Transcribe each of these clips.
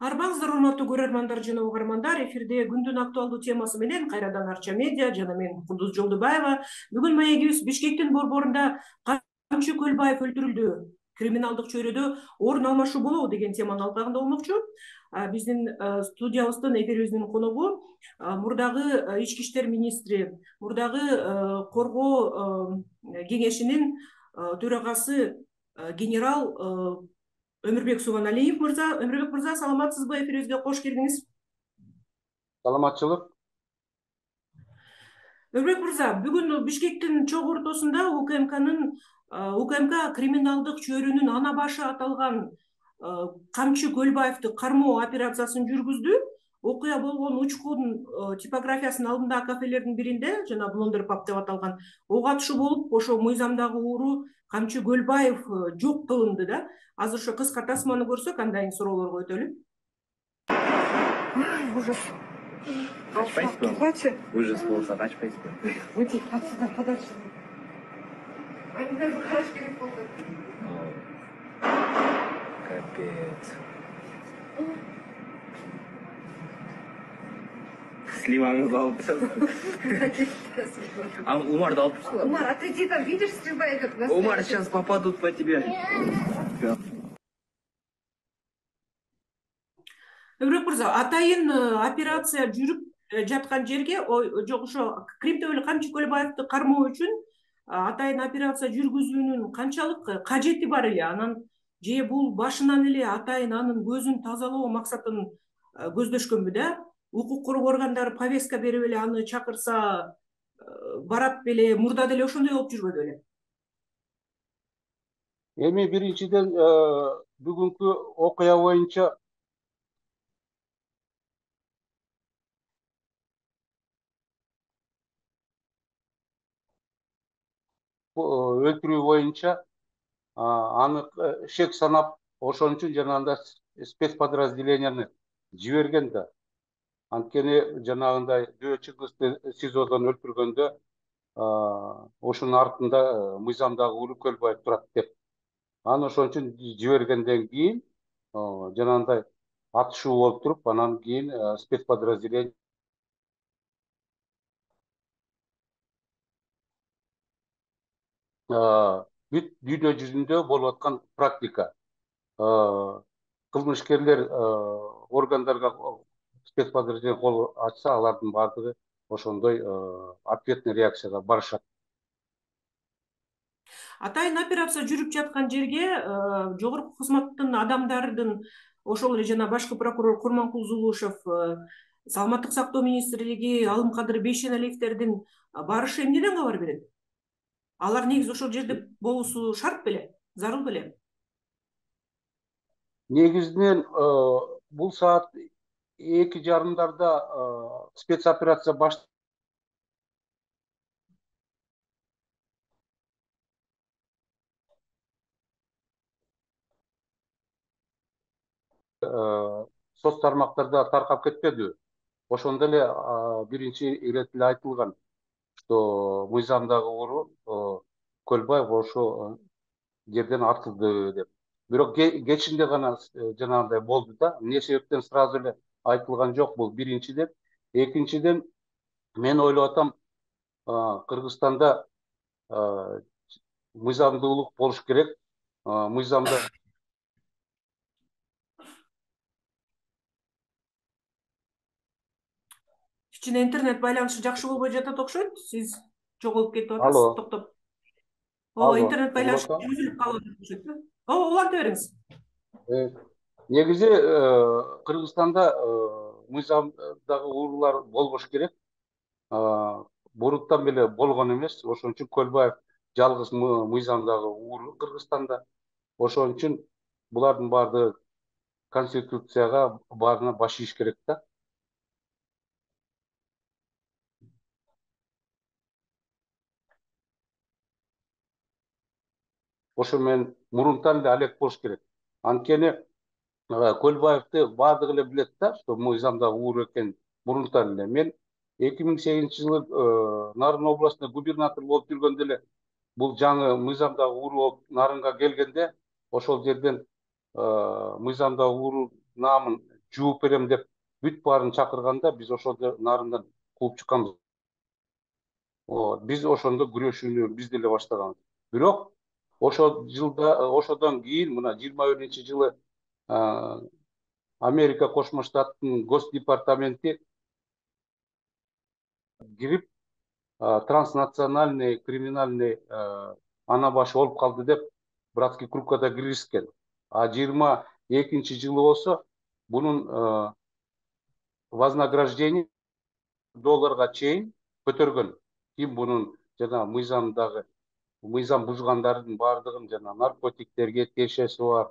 Арбаңыздар, урматтуу көрөрмандар жана угармандар. Эфирде күндүн актуалдуу темасы менен кайрадан Арча медиа жана мен Кудуз Жолдубаева. Бүгүн маегибиз Бишкектин борборунда Камчы Көлбаев өлтүрүлдү, криминалдык чөйрөдө орун алмашуу болобу деген теманын алкагында болмокчу. Биздин студиябыздын, эфирибиздин коногу мурдагы ички иштер министри, мурдагы коргоо кеңешинин төрагасы генерал Өмүрбек Субаналиев мырза. Өмүрбек мырза, саламатсызбы? Эфирибизге кош келдиңиз. Саламатчылык. Өмүрбек мырза, бүгүн Бишкектин чогуу ортосунда УКМК криминалдык чөйрөнүн ана башы аталган Камчы Көлбаевди кармоо операциясын жүргүздү. Окуя болгон учкун типографиясынын алдындагы кафелердин биринде, жана Блондер паб деп аталган, ок атышуу болуп, ошо мыйзамдагы ууру Камчы Көлбаев жок кылынды да. Азыр ошо кыска тасманы көрсөк, андан кийин суроолорго өтөлү. Ужас. Açпайсызбы? Ужас болса açпайсызбы? Уйди отсюда подальше. Они даже хорошо перепутали. Капец. Сливаңызды алып тастады. А Умарды алып тастады. Умар, отойди, там видишь, стрельба идет. Умар, сейчас попадут по тебе. Өмүрбек мырза, атайын операция жүрүп жаткан жерге, жок ошо Кримтөбөлүк Камчы Көлбаевди кармоо үчүн атайын операция жүргүзүүнүн канчалык кажети бар эле? Анан же бул башынан эле атайын анын көзүн тазалоо максатын көздөшкөнбү да? Укук коргоо органдары повестка берип эле аны чакырса барат беле, мурда деле ошондой болуп жүрбөдү беле? Эми биринчиден бүгүнкү окуя боюнча өлтүрүү боюнча анык шек санап, ошон үчүн жанагындай спецподразделенияны жиберген да. Анткени жанагындай Дөө Чыңгызды СИЗОдон өлтүргөндө ошонун артында мыйзамдагы ууру Көлбаев турат деп. Аны ошон үчүн жибергенден кийин жанагындай атышуу болуп туруп, анан кийин спецподразделение бүт дүйнө жүзүндө болуп аткан практика. Кылмышкерлер органдарга спецподразделение кол ачса, алардын баардыгы ошондой ответный реакцияга барышат. Атайын операция жүрүп жаткан жерге жогорку кызматтын адамдардын, ошол эле жана башкы прокурор Курманкул Зулушев, Саламаттык сактоо министрлиги Алымкадыр Бейшеналиевдердин барышы эмнеден кабар берет? Алар негизи ошол жерде болуусу шарт беле, зарыл беле? Негизинен бул саат 2:30 спецоперация соц тармактарда таркап кетпедиби? Ошондо эле биринчи ирет эле айтылган, что мыйзамдагы ууру Көлбаев ошо жерден артылды деп. Бирок кечинде гана жанагындай болду да. Эмне себептен сразу эле айтылган жок бул, биринчиден. Экинчиден, мен ойлоп атам, Кыргызстанда мыйзамдуулук болуш керек. Мыйзамда Кичине интернет байланышы жакшы болбой жатат окшойт. Сиз жоголуп кетип атасыз, Алло. токтоп. Алло, Интернет байланышы уланта. үзүлүп калып окшойт. Уланта бериңиз. Негизи Кыргызстанда мыйзамдагы уурулар болбош керек. Буруттан беле болгон эмес. Ошон үчүн Көлбаев жалгыз мыйзамдагы ууру Кыргызстанда. Ошон үчүн булардын баардыгы конституцияга баарына баш ийиш керек да. Ошо менен мурунтан эле алек болуш керек. Анткени Көлбаевди баардыгы эле билет да, что мыйзамдагы ууру экенин мурунтан эле. Мен 2008-жылы Нарын областында губернатор болуп жүргөндө эле бул жаңы мыйзамдагы ууру болуп Нарынга келгенде, ошол жерден мыйзамдагы ууру наамын жууп берем деп бүт баарын чакырганда биз ошол нарындан кууп чыкканбыз. Биз ошондо күрөшүүнү биз деле баштаганбыз. Бирок ошодон кийин мына 21-жылы Америка Кошмо Штаттын Госдепартаменти кирип транснациональный криминальный ана башы болуп калды деп братский кругка киргизген. А 22-жылы болсо бунун вознаграждение $1 чейин көтөргөн. Ким бунун жана мыйзам бузгандардын баардыгын жана наркотиктерге тиешеси бар,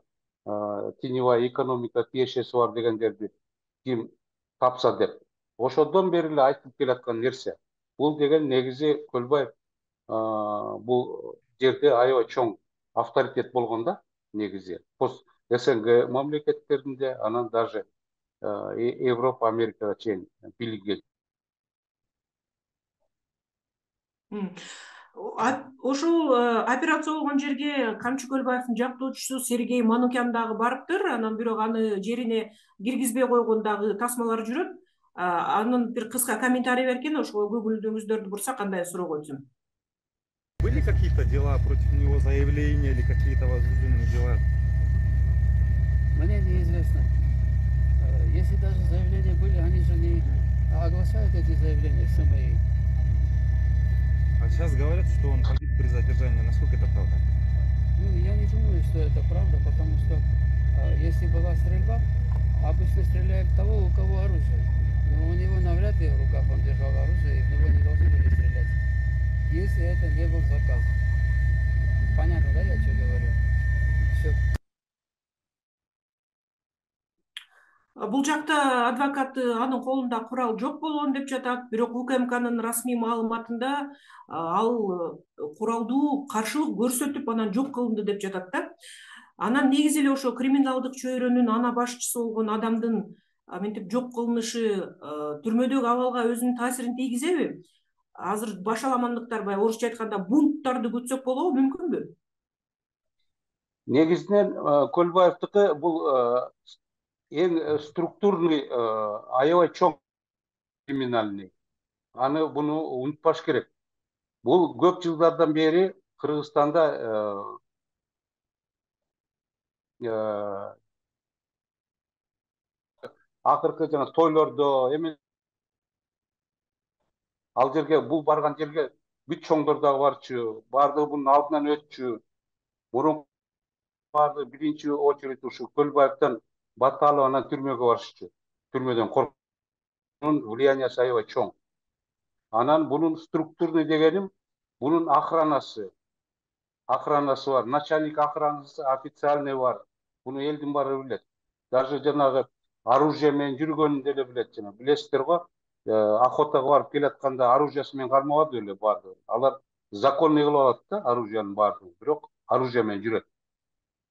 теневая экономика тиешеси бар дегендерди ким тапса деп. Ошодон бери эле айтып келаткан нерсе. Бул деген негизи Көлбаев бул жерде аябай чоң авторитет болгон да негизи. Пост СНГ мамлекеттеринде, анан даже Европа, Америкага чейин билиги. Ошол операция болгон жерге Камчы Көлбаевдин жактоочусу Сергей Манукян дагы барыптыр. Анан бирок аны жерине киргизбей койгон дагы тасмалар жүрөт. Анын бир кыска комментарий берген, ошого көңүлүңүздөрдү бурсак кандай суроо койсун? Были какие-то дела против него, заявления или какие-то возбужденные дела? Мне неизвестно. Если даже заявления были, они же не оглашают эти заявления в СМИ. А сейчас говорят, что он погиб при задержании. Насколько это правда? Ну, я не думаю, что это правда, потому что если была стрельба, обычно стреляют в того, у кого оружие. Но у него навряд ли в руках он держал оружие, и в него не должны были стрелять. Если это не был заказ. Понятно, да, я что говорю? Все. Бул жакта адвокат анын колунда курал жок болгон деп жатат, бирок УКМКнын расмий маалыматында ал куралдуу каршылык көрсөтүп анан жок кылынды деп жатат да. Анан негизи эле ошо криминалдык чөйрөнүн ана башчысы болгон адамдын мынтип жок кылынышы түрмөдөгү абалга өзүнүн таасирин тийгизеби? Азыр башаламандыктар, баягы орусча айтканда бунттарды күтсөк болобу, мүмкүнбү? Негизинен Көлбаевдики бул эң структурный, аябай чоң криминальный. Буну унутпаш керек. Бул көп жылдардан бери Кыргызстанда акыркы жана тойлордо ал жерге бул барган жерге бүт чоңдор дагы барчу, баардыгы бунун алдынан өтчү. Мурун баардыгы биринчи очередь ушу Көлбаевден батталып анан түрмөгө барышчу. Түрмөдөн коркуп, бунун влияниясы аябай чоң. Анан бунун структурный дегеним, бунун охранасы бар, начальник охранасы официальный бар. Буну элдин баары билет. Даже жанагы оружие менен жүргөнүн деле билет. Жана билесиздер го, охотага барып келатканда оружиясы менен кармабады эле баардыгы. Алар законный кылып алат да оружиянын баардыгын, бирок оружие менен жүрөт.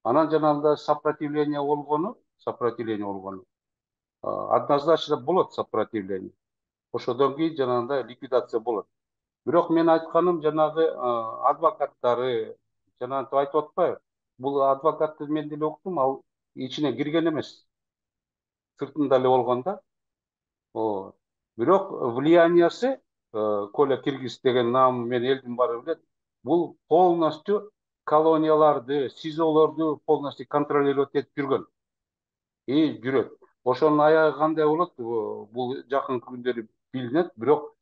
Анан жанагындай сопротивление болгону однозначно болот сопротивление. Ошодон кийин жанагындай ликвидация болот. Бирок мен айтканым жанагы адвокаттары жанагынтип айтып атпайбы? Бул адвокатты мен деле уктум, ал ичине кирген эмес. Сыртында эле болгон да. Бирок влияниясы Коля Киргиз деген наамы мен элдин баары билет. Бул полностью колонияларды, СИЗОлорду полностью контролировать этип жүргөн. Жүрөт. Ошонун аягы кандай болот? Бул жакынкы күндөрү билинет, бирок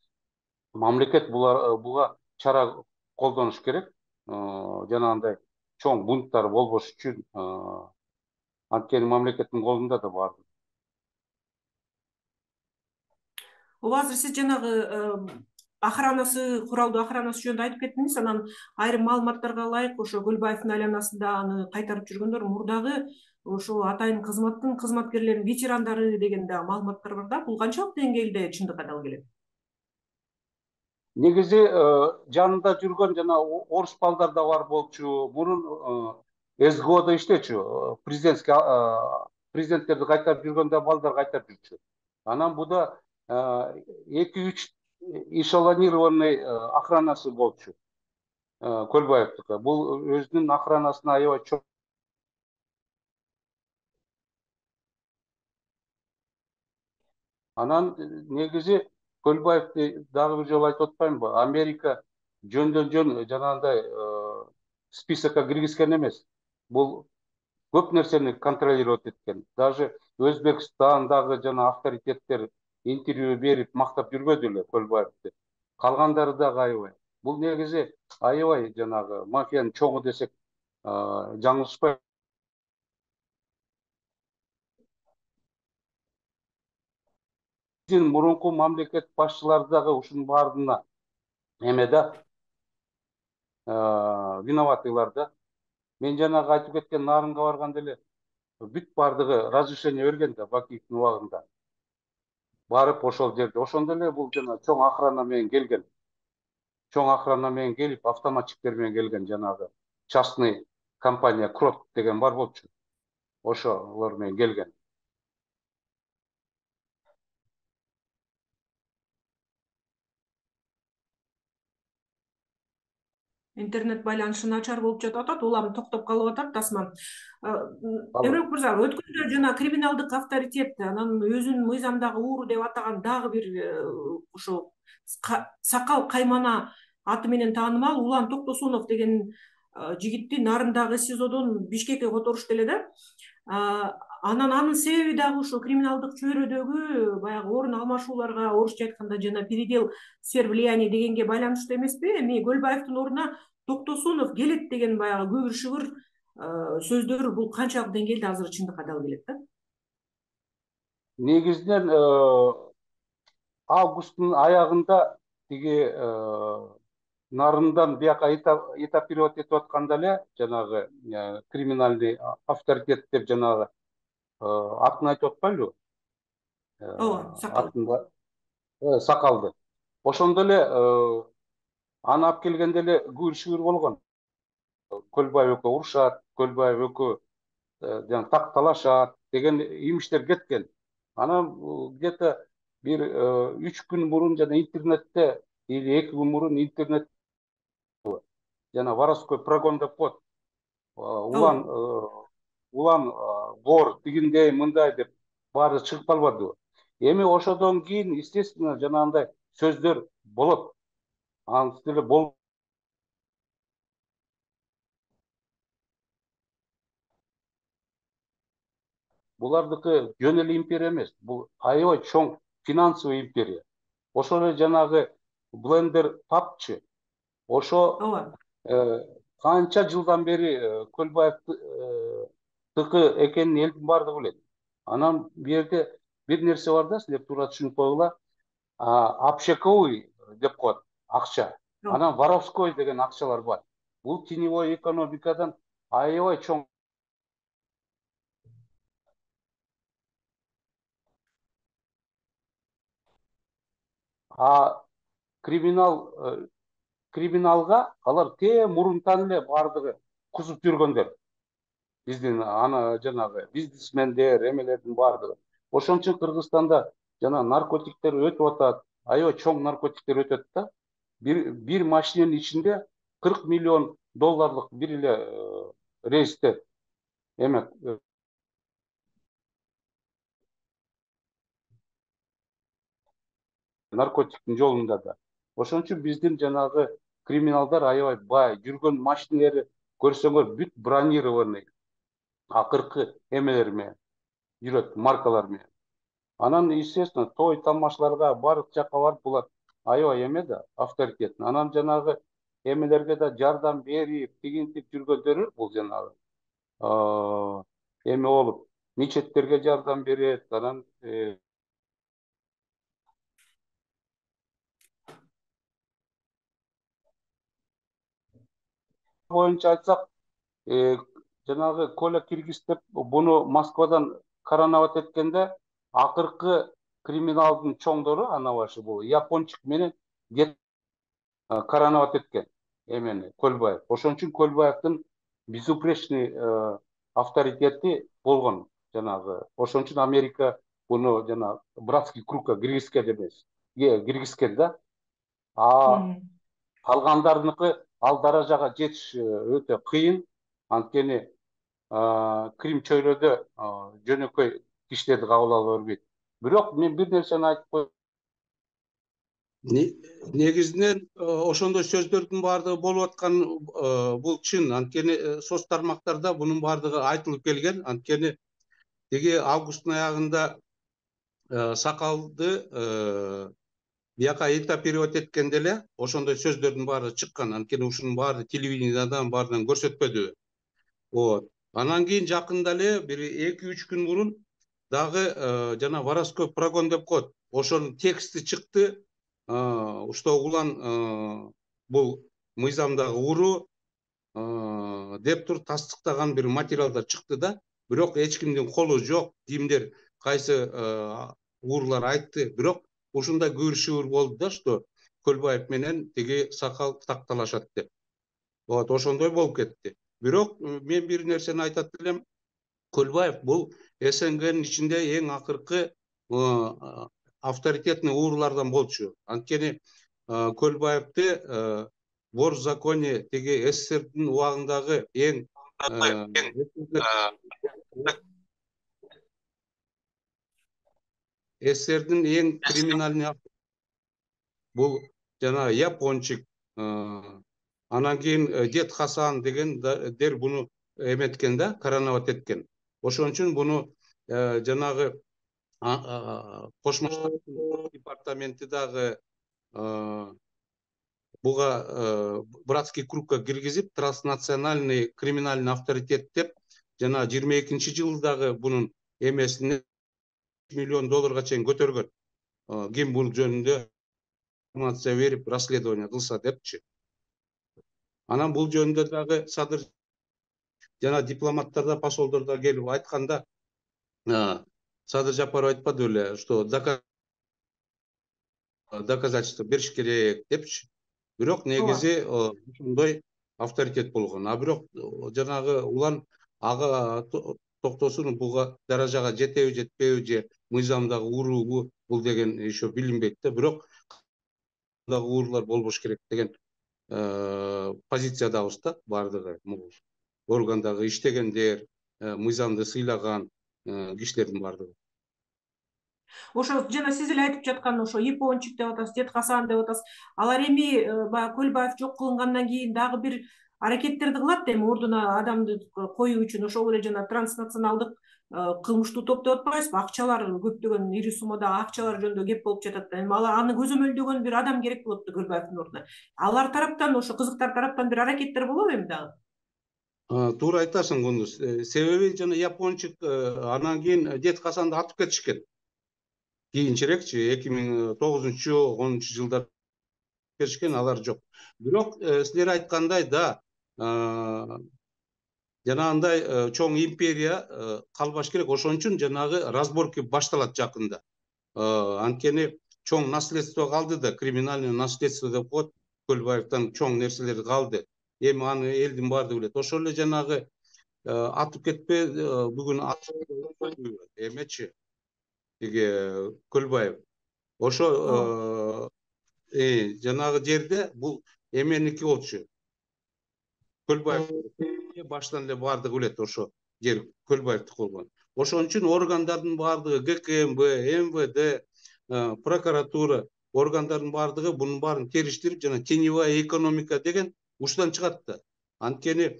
мамлекет буга чара колдонуш керек. Жанагындай чоң бунттар болбош үчүн, анткени мамлекеттин колунда да бар. Азыр сиз жанагы куралдуу охранасы жөнүндө айтып кеттиңиз. Анан айрым маалыматтарга ылайык, ошо Көлбаевдин айланасында аны кайтарып жүргөндөр мурдагы ошо атайын кызматтын кызматкерлеринин ветерандары деген да маалыматтар бар да. Бул канчалык деңгээлде чындыкка дал келет? Негизи жанында жүргөн жана орус балдар да бар болчу. Мурун СГОдо иштечү. Президенттерди кайтарып жүргөндө балдар кайтарып жүрчү. Анан буда 2-3 эшелонированный охранасы болчу. Көлбаевдики. Бул өзүнүн охранасына аябай чоң Анан негизи Көлбаевди дагы бир жолу айтып атпаймынбы? Америка жөндөн жөн жанагындай списокко киргизген эмес. Бул көп нерсени контролировать эткен. Даже Өзбекстандагы жана авторитеттер интервью берип мактап жүрбөдү эле Көлбаевди. Калгандары дагы аябай. Бул негизи аябай жанагы мафиянын чоңу десек жаңылышпайбыз. Биздин мурунку мамлекет башчылары дагы ушунун баарына эме да виноватыйлар да. Мен жанагы айтып кеткен Нарынга барганда эле бүт бардыгы разрешение берген да Бакиевдин убагында. Барып ошол жерде ошондо эле бул жана чоң охрана менен келген. Чоң охрана менен келип, автоматчиктер менен келген жанагы частный компания Крот деген бар болчу. Ошолор менен келген. Интернет байланышы начар болуп жатып атат, улам токтоп калып атат тасма. Эмрек мырза, өткөндө жана криминалдык авторитет анан өзүн мыйзамдагы ууру деп атаган дагы бир ошо сакал каймана аты менен таанымал Улан Токтосунов деген жигитти Нарындагы СИЗОдон Бишкекке которушту эле да. Анан анын себеби дагы ушул криминалдык чөйрөдөгү баягы орун алмашууларга, орусча айтканда жана передел сфер влияния дегенге байланыштуу эмеспи? Эми Көлбаевдин ордуна Токтосунов келет деген баягы көбүр шыгыр сөздөр бул канчалык деңгээлде азыр чындыкка дал келет да? Негизинен августтун аягында тиги Нарындан бияка этапировать этип атканда эле жанагы криминальный авторитет деп жанагы атын айтып атпайлыбы? Ооба, сакал. Сакалды. Ошондо эле аны алып келгенде эле күбүр-шүгүр болгон. Көлбаев экөө урушат, Көлбаев экөө жана такталашат деген имиштер кеткен. Анан где-то бир 3 күн мурун жана интернетте или 2 күн мурун интернет жана воровской прогон деп коет. Улан вор тигиндей мындай деп баары чыгып калбадыбы? Эми ошодон кийин естественно жанагындай сөздөр болот. Антип деле булардыкы жөн эле империя эмес. Бул аябай чоң финансовый империя. Ошол эле жанагы Блендер папчы. Ошо канча жылдан бери Көлбаевдыкы экенин элдин баардыгы билет. Анан бу жерде бир нерсе бар да, силер туура түшүнүп койгула. Общаковый деп коет акча. Анан воровской деген акчалар бар. Бул теневой экономикадан аябай чоң. Криминалга алар мурунтан эле баардыгы кузуп жүргөндөр. Биздин жанагы бизнесмендер, эмелердин баардыгы. Ошон үчүн Кыргызстанда жана наркотиктер өтүп атат. Аябай чоң наркотиктер өтөт да. Бир машиненин ичинде 40 миллион долларлык бир эле рейсте эме наркотиктин жолунда да. Ошон үчүн биздин жанагы криминалдар аябай бай, жүргөн машинелери көрсөңөр бүт бронированный, акыркы эмелер менен жүрөт, маркалар менен. Анан естественно той тамашаларга бардык жакка барып булар аябай эме да, авторитет. Анан жанагы эмелерге да жардам берип, тигинтип жүргөндөрү бул жанагы эме болуп, мечеттерге жардам берет, анан боюнча айтсак, жанагы Коля Киргиз деп буну Москвадан коронават эткенде акыркы криминалдын чоңдору анабашы бул япончук менен коронават эткен эмени Көлбаев. Ошон үчүн Көлбаевдин безупречный авторитети болгон жанагы. Ошон үчүн Америка буну жана братский кругка киргизген эмес. Киргизген да. Калгандарыныкы ал даражага жетиш өтө кыйын. Анткени Крим чөйрөдө жөнөкөй кишилерди кабыл ала бербейт. Бирок мен бир нерсени айтып коеюн. Негизинен ошондой сөздөрдүн баардыгы болуп аткан бул чын. Анткени соц тармактарда бунун баардыгы айтылып келген. Анткени тиги августтун аягында Сакалды бияка интервью эткенде эле ошондой сөздөрдүн баары чыккан. Анткени ушунун баары телевидениедан баарынан көрсөтпөдү. Вот. Анан кийин жакында эле бир 2-3 күн мурун дагы жана воровской прогон деп коет. Ошонун тексти чыкты. Что улан бул мыйзамдагы уруу деп туруп тастыктаган бир материалдар чыкты да. Бирок эч кимдин колу жок. Кимдер кайсы уруулар айтты. Бирок ушундай көрүшүр болду да, что Көлбаев менен тиги Сакал такталашат деп. Вот ошондой болуп кетти. Бирок мен бир нерсени айтат элем. Көлбаев бул СНГнын ичинде эң акыркы авторитетный уруулардан болчу. Анткени Көлбаевди вор в законе тиги СССРдин убагындагы эң СССРдин эң криминальный бул жана япончик, анан кийин Дед Хасан дегендер буну эметкен да, короновать эткен. Ошон үчүн буну жанагы Кошмо Штаттын департаменти дагы буга братский кругка киргизип, транснациональный криминальный авторитет деп жана 22-жылы дагы бунун эмесине $1 миллион чейин көтөргөн. Ким бул жөнүндө информация берип, расследование кылса депчи. Анан бул жөнүндө дагы Садыр жана дипломаттарда, посолдордо келип айтканда, Садыр Жапаров айтпады эле, что доказательство бериш керек депчи. Бирок негизи ушундай авторитет болгон. А бирок жанагы улан ага токтосун буга даражага жетеби жетпеби же мыйзамдагы уруубу бул деген еще билинбейт да. Бирок дагы уруулар болбош керек деген позициядабыз да бардыгы. Органдагы иштегендер, мыйзамды сыйлаган кишилердин бардыгы. Ошо жана сиз эле айтып жаткан ошо япончик деп атасыз, Дед Хасан деп атасыз. Алар эми баягы Көлбаев жок кылынгандан кийин дагы бир аракеттерди кылат эми ордуна адамды коюу үчүн. Ошол эле жана транснационалдык кылмыштуу топ деп атпайбызбы? Акчалар көптөгөн ири суммадагы акчалар жөнүндө кеп болуп жатат. Эми алар аны көзөмөлдөгөн бир адам керек болот да Көлбаевдин ордуна. Алар тараптан, ошо кызыктар тараптан бир аракеттер болобу эми дагы? Туура айтасың, Кундуз. Себеби жана япончик анан кийин Дед Хасанды атып кетишкен. Кийинчерекчи 2009-10 жылдар кетишкен, алар жок. Бирок силер айткандай да, жанагындай чоң империя калбаш керек. Ошон үчүн жанагы разборки башталат жакында. Анткени чоң наследство калды да, криминальный наследство деп коет. Көлбаевден чоң нерселер калды. Эми аны элдин баардыгы билет. Ошол эле жанагы атып кетпе бүгүн эмечи тиги Көлбаев. Ошо жанагы жерде бул эменики болчу. Көлбаев баштан эле баардыгы билет, ошо жер Көлбаевдики болгон. Ошон үчүн органдардын баардыгы ГКМБ, МВД, прокуратура органдардын баардыгы бунун баарын териштирип, жана теневая экономика деген ушудан чыгат да. Анткени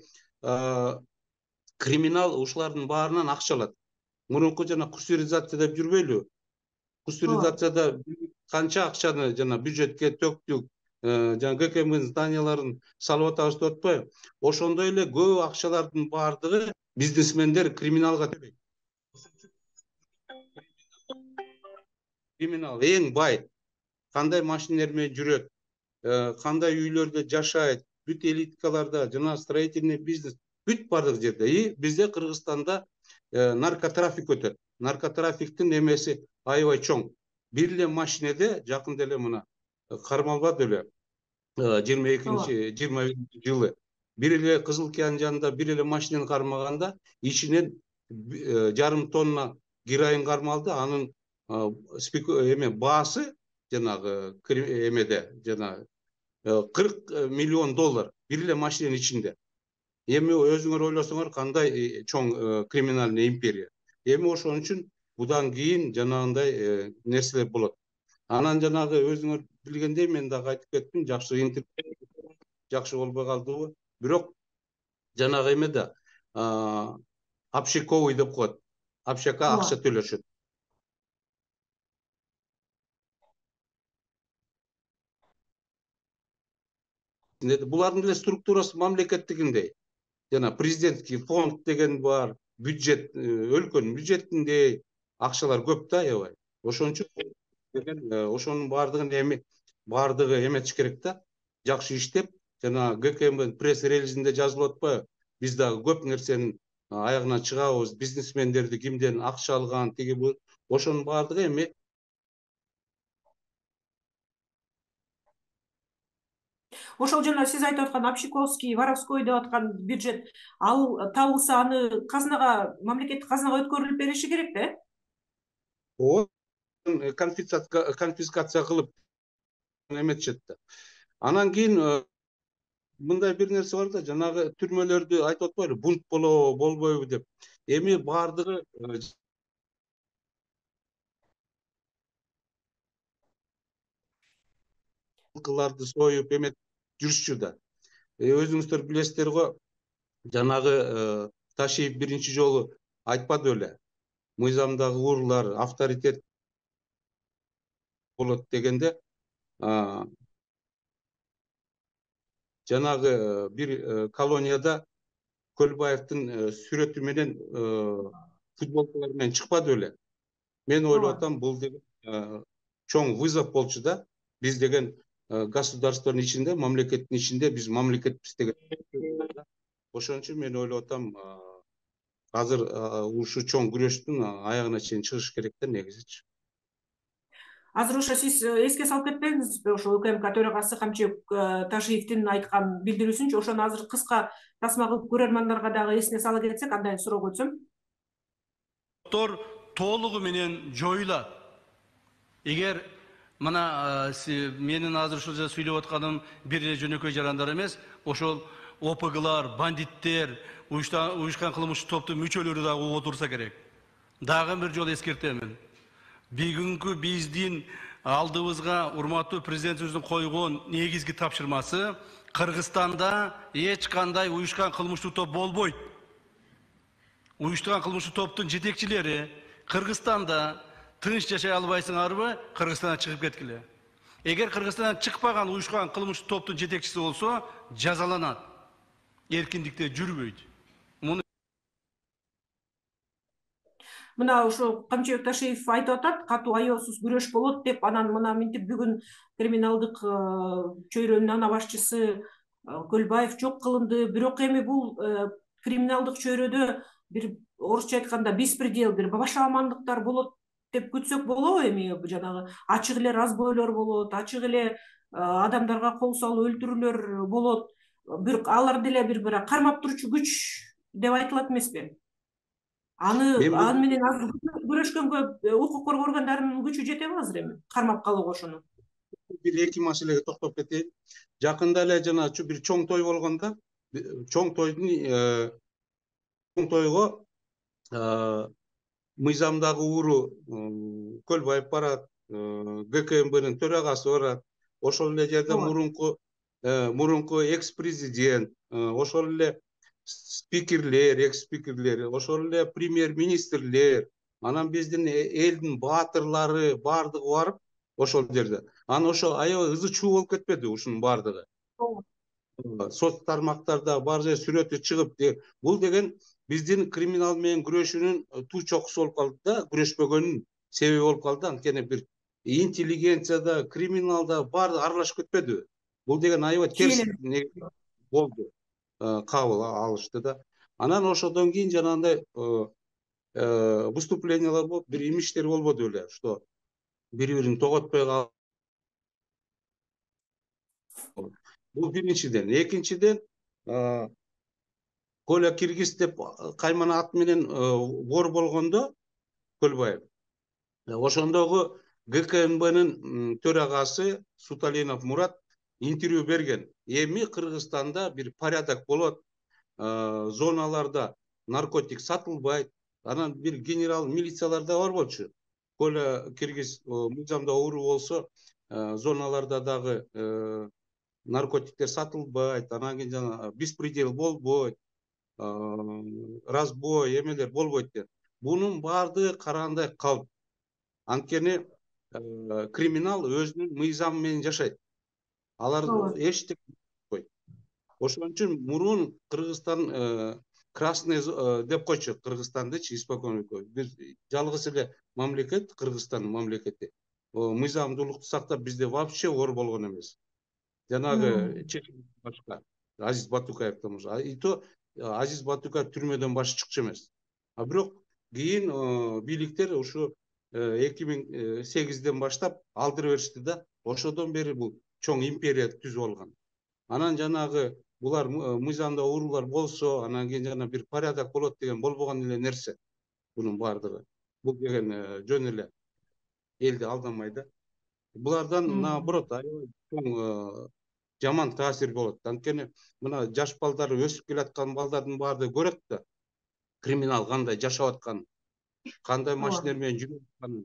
криминал ушулардын баарынан акча алат. Мурунку жана кустуризация деп жүрбөйлү? Кустуризацияда канча акчаны жана бюджетке төктүк, жана ГКМдин зданияларын салып атабыз деп атпайбы? Ошондой эле көп акчалардын баардыгы бизнесмендер криминалга төлөйт. Криминал эң бай, кандай машинелер менен жүрөт, кандай үйлөрдө жашайт, бүт элиткаларда жана строительный бизнес, бүт бардык жерде. И бизде Кыргызстанда наркотрафик өтөт. Наркотрафиктин эмеси аябай чоң. Бир эле машинеде жакында эле мына кармалбады эле 22-21 жылы. Бир эле Кызыл Кыян жанында бир эле машинени кармаганда ичинен 1,5 тонна героин кармалды. Анын баасы жанагы эмеде жана $40 миллион бир эле машиненин ичинде. Эми өзүңөр ойлосоңор кандай чоң криминальный империя. Эми ошон үчүн будан кийин жанагындай нерселер болот. Анан жанагы өзүңөр билгендей мен дагы айтып кеттим, жакшы интернет жакшы болбой калдыбы. Бирок жанагы эмеде общаковый деп коет. Общакка акча төлөшөт. Булардын деле структурасы мамлекеттигиндей. Жана президентский фонд деген бар, бюджет, өлкөнүн бюджетиндей акчалар көп да, аябай. Ошон үчүн деген ошонун бардыгы эметиш керек да. Жакшы иштеп, жана ГКМ пресс-релизинде жазылып атпайбы? Биз дагы көп нерсенин аягына чыгабыз, бизнесмендерди кимден акча алган, тиги бул. Ошонун бардыгы эми Ошол жана сиз айтып аткан общаковский, воровской деп аткан бюджет, ал табылса аны казынага, мамлекеттик казынага өткөрүлүп бериши керек да? Конфискация кылып эметишет да. Анан кийин мындай бир нерсе бар да, жанагы түрмөлөрдү айтып атпайлы, бунт болобу, болбойбу деп. Эми бардыгы кыларды союп эметип жүрүшчү да. Өзүңүздөр билесиздер го, жанагы Ташиев биринчи жолу айтпады беле. Мыйзамдагы уруулар авторитет болот дегенде, жанагы бир колонияда Көлбаевдин сүрөтү менен футболкалар менен чыкпады беле. Мен ойлоп атам, бул деген чоң вызов болчу да. Биз деген государствонун ичинде, мамлекеттин ичинде биз мамлекетпиз деген. Ошон үчүн мен ойлоп атам, азыр ушу чоң күрөштүн аягына чейин чыгыш керек да негизичи. Азыр ошо сиз эске салып кетпеңизби, ошо УКМК төрагасы Камчыбек Ташиевдин айткан билдирүүсүнчү, ошону азыр кыска тасма кылып көрөрмандарга дагы эсине сала кетсек, андай суроого өтсөм. Толугу менен жоюлат. Эгер мына менин азыр ушул жерде сүйлөп атканым бир эле жөнөкөй жарандар эмес, ошол ОПГлар, бандиттер, уюшкан кылмыштык топтун мүчөлөрү дагы угуп отурса керек. Дагы бир жолу эскертемин. Бүгүнкү биздин алдыбызга урматтуу президентибиздин койгон негизги тапшырмасы Кыргызстанда эч кандай уюшкан кылмыштык топ болбойт. Уюштурган кылмыштык топтун жетекчилери Кыргызстанда тынч жашай албайсыңарбы, Кыргызстандан чыгып кеткиле. Эгер Кыргызстандан чыкпаган уюшкан кылмыштык топтун жетекчиси болсо, жазаланат. Эркиндикте жүрбөйт. Мына ошо Камчыбек Ташиев айтып атат, катуу аеосуз күрөш болот деп, анан мына минтип бүгүн криминалдык чөйрөнүн ана башчысы Көлбаев жок кылынды. Бирок эми бул криминалдык чөйрөдө бир орусча айтканда беспредел, бир башаламандыктар болот деп күтсөк болобу? Эми жанагы ачык эле разбойлор болот, ачык эле адамдарга кол салуу, өлтүрүүлөр болот. Бирок алар деле бир кармап турчу күч деп айтылат эмеспи? Аны менен азыр күрөшкөнгө укук коргоо органдарынын күчү жетеби азыр эми кармап калууга ошону? Бир эки маселеге токтоп кетейин. Жакында эле жана бир чоң той болгондо, чоң тойго мыйзамдагы ууру Көлбаев барат, ГКМБнын төрагасы барат. Ошол эле жерде мурунку экс-президент, ошол эле спикерлер, экс-спикерлер, ошол эле премьер-министрлер, анан биздин элдин баатырлары бардыгы барып ошол жерде. Анан ошо аябай ызы чуу болуп кетпеди ушунун бардыгы? Соц тармактарда бар жер сүрөтү чыгып, бул деген биздин криминал менен күрөшүүнүн туу чокусу болуп калды да, күрөшпөгөнүнүн себеби болуп калды. Анткени бир интеллигенцияда, криминалда баары аралашып кетпедиби? Бул деген аябай терс болду. Кабыл алышты да. Анан ошодон кийин жанагындай выступлениялар болуп, бир имиштер болбоду беле, что бири-бирин тоготпой калып. Бул биринчиден. Экинчиден, Коля Киргиз деп каймана ат менен вор болгондо Көлбаев, ошондогу ГКМБнын төрагасы Суталинов Мурат интервью берген. Эми Кыргызстанда бир порядок болот, зоналарда наркотик сатылбайт, анан бир генерал милициялар да бар болчу. Коля киргиз мыйзамда оору болсо, зоналарда дагы наркотиктер сатылбайт, анан кийин жана беспредел болбойт, разбой эмелер болбойт деп. Бунун баардыгы караандай калп. Анткени криминал өзүнүн мыйзамы менен жашайт. Алар эчтеке койт. Ошон үчүн мурун Кыргызстан красный деп койчу Кыргызстандычы испокон веков. Бир жалгыз эле мамлекет, Кыргызстан мамлекети. Мыйзамдуулукту сактап бизде вообще оор болгон эмес. Жанагы чечим башка. Азиз Батукаевден башка. И то Азиз Батукаев түрмөдөн башы чыкчу эмес. А бирок кийин бийликтер ушу 2008-ден баштап алдырып беришти да. Ошодон бери бул чоң империя түзүп алган. Анан жанагы булар мыйзамда оорулар болсо, анан кийин жана бир порядок болот деген болбогон эле нерсе. Бунун баардыгы. Бул деген жөн эле элди алдамай да. Булардан наоборот аябай чоң жаман таасир болот. Анткени мына жаш балдар өсүп келаткан балдардын баардыгы көрөт да. Криминал кандай жашап атканын, кандай машиналар менен жүрүп атканын.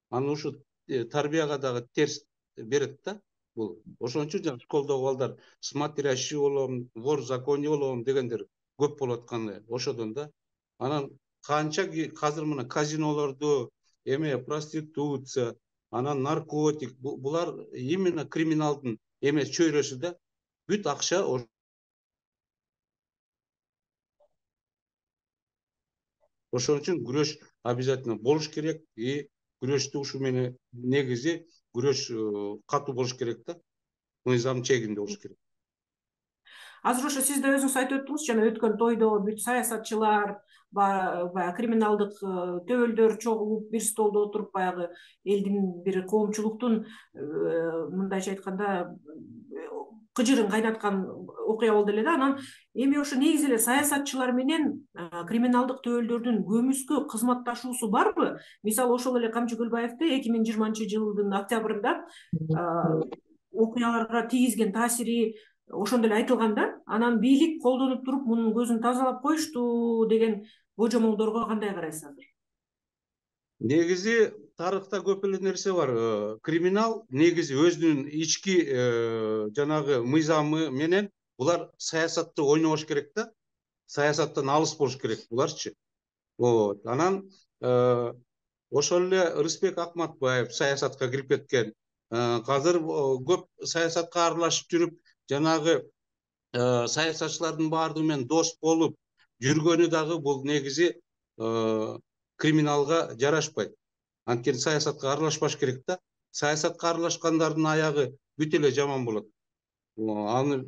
Анан ушу тарбияга дагы терс берет да. Бул ошон үчүн жана школдогу балдар смотрящий болом, вор в законе болом дегендер көп болуп атканы ошодон да. Анан канча азыр мына казинолорду, эме проституция, анан наркотик, булар именно криминалдын эмес чөйрөсү да. Бүт акча ошон үчүн күрөш обязательно болуш керек. И күрөштү ушу менен негизи күрөш катуу болуш керек да. Мыйзам чегинде болуш керек. Азыр ошо сиз да өзүңүз айтып өттүңүз, жана өткөн тойдо бүт саясатчылар, баягы криминалдык төбөлдөр чогулуп бир столдо отуруп баягы элдин бир коомчулуктун мындайча айтканда кыжырын кайнаткан окуя болду эле да. Анан эми ошо негизи эле саясатчылар менен криминалдык төбөлдөрдүн көмүскө кызматташуусу барбы? Мисалы ошол эле Камчы Көлбаевди 2020-жылдын октябрында окуяларга тийгизген таасири ошондо эле айтылган да. Анан бийлик колдонуп туруп мунун көзүн тазалап коюшту деген божомолдорго кандай карайсыз азыр? Негизи тарыхта көп эле нерсе бар. Криминал негизи өзүнүн ички жанагы мыйзамы менен булар саясатты ойнобош керек да. Саясаттан алыс болуш керек буларчы. Вот. Анан ошол эле Рысбек Акматбаев саясатка кирип кеткен. Азыр көп саясатка аралашып жүрүп, жанагы саясатчылардын баардыгы менен дос болуп жүргөнү дагы бул негизи криминалга жарашпайт. Анткени саясатка аралашпаш керек да. Саясатка аралашкандардын аягы бүт эле жаман болот. Аны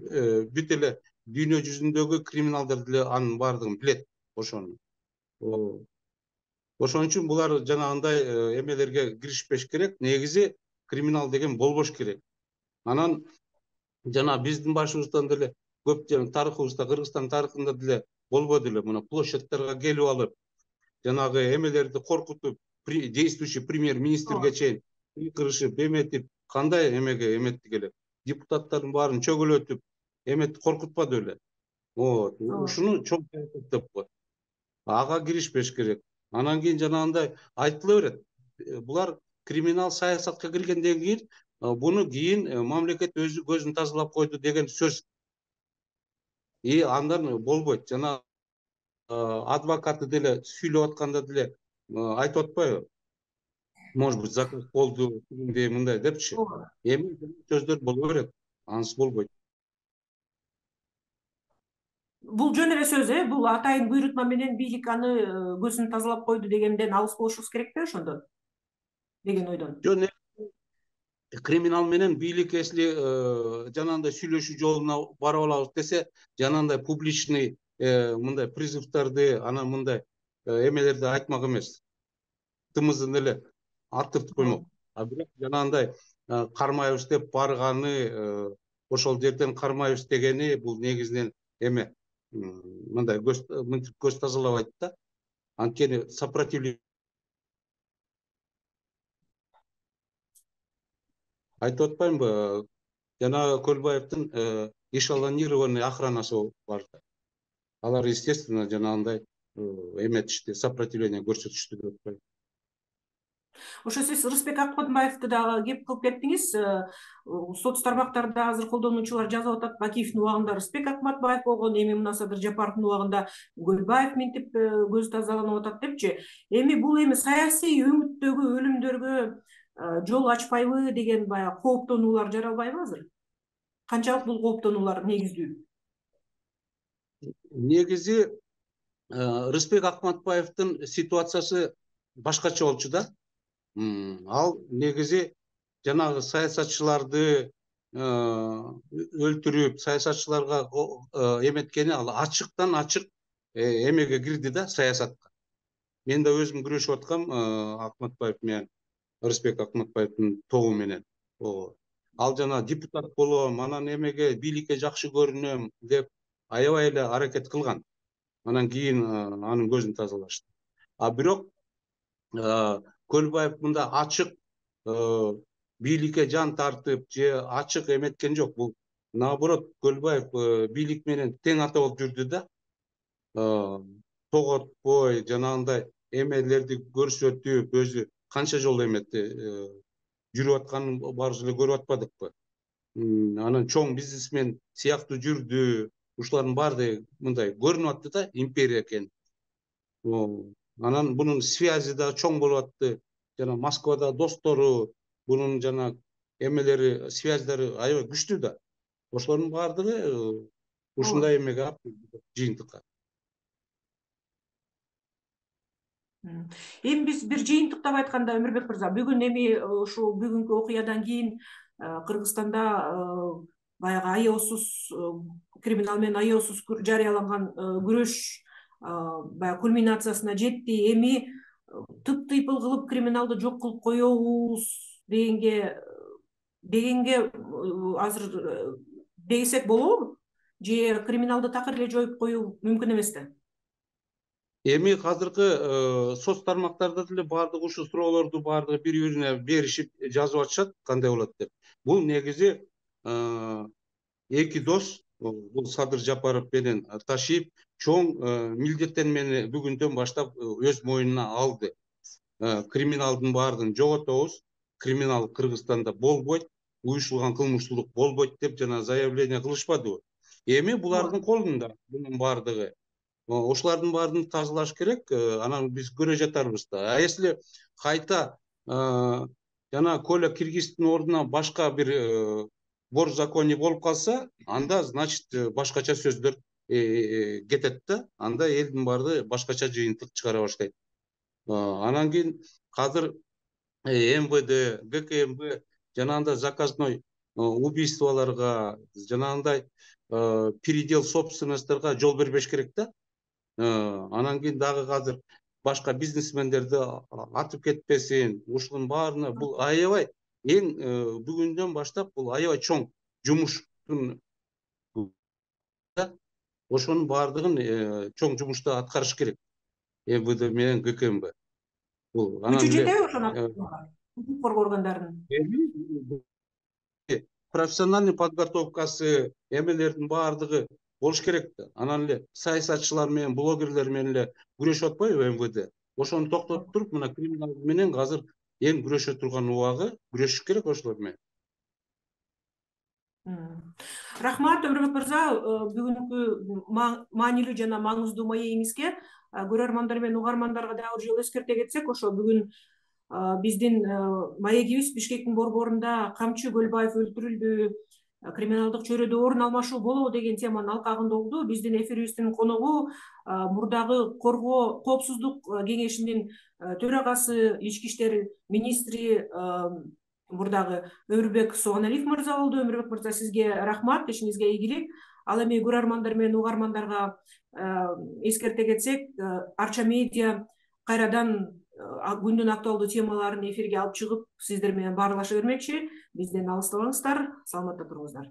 бүт эле дүйнө жүзүндөгү криминалдар деле анын баардыгын билет ошону. Ошон үчүн булар жанагындай эмелерге киришпеш керек. Негизи криминал деген болбош керек. Анан жана биздин башыбыздан деле көп тарыхыбызда, Кыргызстан тарыхында деле болбоду эле. Мына площадьтарга келип алып, жанагы эмелерди коркутуп, действующий премьер-министрге чейин кырышып, эметип, кандай эмеге эметти келет. Депутаттардын баарын чөгөлөтүп, эметти коркутпады эле. Вот. Ушуну чоң деп коет. Ага киришпеш керек. Анан кийин жанагындай айтыла берет. Булар криминал саясатка киргенден кийин буну кийин мамлекет өзү көзүн тазалап койду деген сөз. И андан болбойт. Жана адвокаты деле сүйлөп атканда деле айтып атпайбы? Может быть, заказ болду, мындай депчи. Эми сөздөр боло берет. Ансыз болбойт. Бул жөн эле сөз, бул атайын буйрутма менен бийлик аны көзүн тазалап койду дегенден алыс болушубуз керек да ошондон деген ойдон. Жөн криминал менен бийлик если жанагындай сүйлөшүү жолуна барып алабыз десе, жанагындай публичный мындай призывдарды, анан мындай эмелерди айтмак эмес. Тымызын эле аттыртып коймок. А бирок жанагындай кармайбыз деп барганы, ошол жерден кармайбыз дегени бул негизинен эме мындай көз тазалабайт да. Анткени сопротивление айтып атпаймынбы? Жанагы Көлбаевдин эшелонированный охранасы бар. Алар естественно жанагындай эметишти, сопротивление көрсөтүштү деп атпайбы. Ошо сиз Рыспек Акматбаевди дагы кеп кылып кеттиңиз. Соц тармактарда азыр колдонуучулар жазып атат, Бакиевдин убагында Рыспек Акматбаев болгон, эми мына Садыр Жапаровдун убагында Көлбаев минтип көз тазаланып атат депчи. Эми бул саясий өңүттөгү өлүмдөргө жол ачпайбы деген баягы кооптонуулар жаралбайбы азыр? Канчалык бул кооптонуулар негиздүү? Негизи Рыспек Акматбаевдин ситуациясы башкача болчу да. Ал негизи жанагы саясатчыларды өлтүрүп, саясатчыларга эметкени, ал ачыктан ачык эмеге кирди да, саясатка. Мен да өзүм күрөшүп аткам Акматбаев менен, Рыспек Акматбаевдин тобу менен. Ал жана депутат болом, анан эмеге бийликке жакшы көрүнөм деп аябай эле аракет кылган. Анан кийин анын көзүн тазалашты. А бирок Көлбаев мында ачык бийликке жан тартып же ачык эметкен жок. Бул наоборот, Көлбаев бийлик менен тең ата болуп жүрдү да. Тоготпой, жанагындай эмелерди көрсөтүп, өзү канча жолу эметти, жүрүп атканын баарыбыз эле көрүп атпадыкпы? Анан чоң бизнесмен сыяктуу жүрдү. Ушулардын баардыгы мындай көрүнүп атты да, империя экени. Анан бунун связи да чоң болуп атты. Жана Москвада достору, бунун жана эмелери, связьдары аябай күчтүү да. Ошолордун баардыгы ушундай эмеге алып жыйынтыкка. Эми биз бир жыйынтыктап айтканда, Өмүрбек мырза, бүгүн ушул бүгүнкү окуядан кийин Кыргызстанда баягы аеосуз, криминал менен аеосуз жарыяланган күрөш баягы кульминациясына жетти. Эми тыйпыл кылып криминалды жок кылып коебуз дегенге азыр десек болобу? Же криминалды такыр эле жоюп коюу мүмкүн эмес да? Эми азыркы соц тармактарда деле баардык ушул суроолорду баардыгы бири-бирине беришип жазып атышат, кандай болот деп. Бул негизи эки дос, бул Садыр Жапаров менен Ташиев, чоң милдеттенмени бүгүндөн баштап өз мойнуна алды. Криминалдын баардыгын жоготобуз, криминал Кыргызстанда болбойт, уюшулган кылмыштуулук болбойт деп жана заявление кылышпадыбы? Эми булардын колунда бунун баардыгы. Ошолардын баарын тазалаш керек, анан биз көрө жатарбыз да. А если кайта жана Коля Киргизовдун ордуна башка бир борзаконие болуп калса, анда значит башкача сөздөр кетет да. Анда элдин баардыгы башкача жыйынтык чыгара баштайт. Анан кийин азыр МВД, ГКМБ жанагындай заказной убийстволорго, жанагындай передел собственностьторго жол бербеш керек да. Анан кийин дагы азыр башка бизнесмендерди атып кетпесин, ушунун баарына бул аябай бүгүндөн баштап бул аябай чоң жумуштун, ошонун баардыгын чоң жумушту аткарыш керек МВД менен ГКМБ. Күчү жетеби ошону коргоо органдарынын? Профессиональный подготовкасы, эмелердин баардыгы болуш керек да. Анан эле саясатчылар менен, блогерлер менен эле күрөшүп атпайбы МВД? Ошону токтотуп туруп, мына криминал менен азыр эң күрөшө турган убагы, күрөшүш керек ошолор менен. Рахмат, Өмүрбек мырза, бүгүнкү маанилүү жана маңыздуу маегиңизге көрөрмандар менен угармандарга дагы бир жолу эскерте кетсек, ошо бүгүн биздин маегибиз Бишкектин борборунда камчы Көлбаев өлтүрүлдү, криминалдык чөйрөдө орун алмашуу болобу деген теманын алкагында болду. Биздин эфирибиздин коногу мурдагы коопсуздук кеңешинин төрагасы, ички иштер министри мурдагы Өмүрбек Сооналиев мырза болду. Өмүрбек мырза, сизге рахмат, ишиңизге ийгилик. Ал эми көрөрмандар менен угармандарга эскерте кетсек, Арча медиа кайрадан күндүн актуалдуу темаларын эфирге алып чыгып, сиздер менен баарлаша бермекчи. Бизден алыстабаңыздар, саламатта туруңуздар.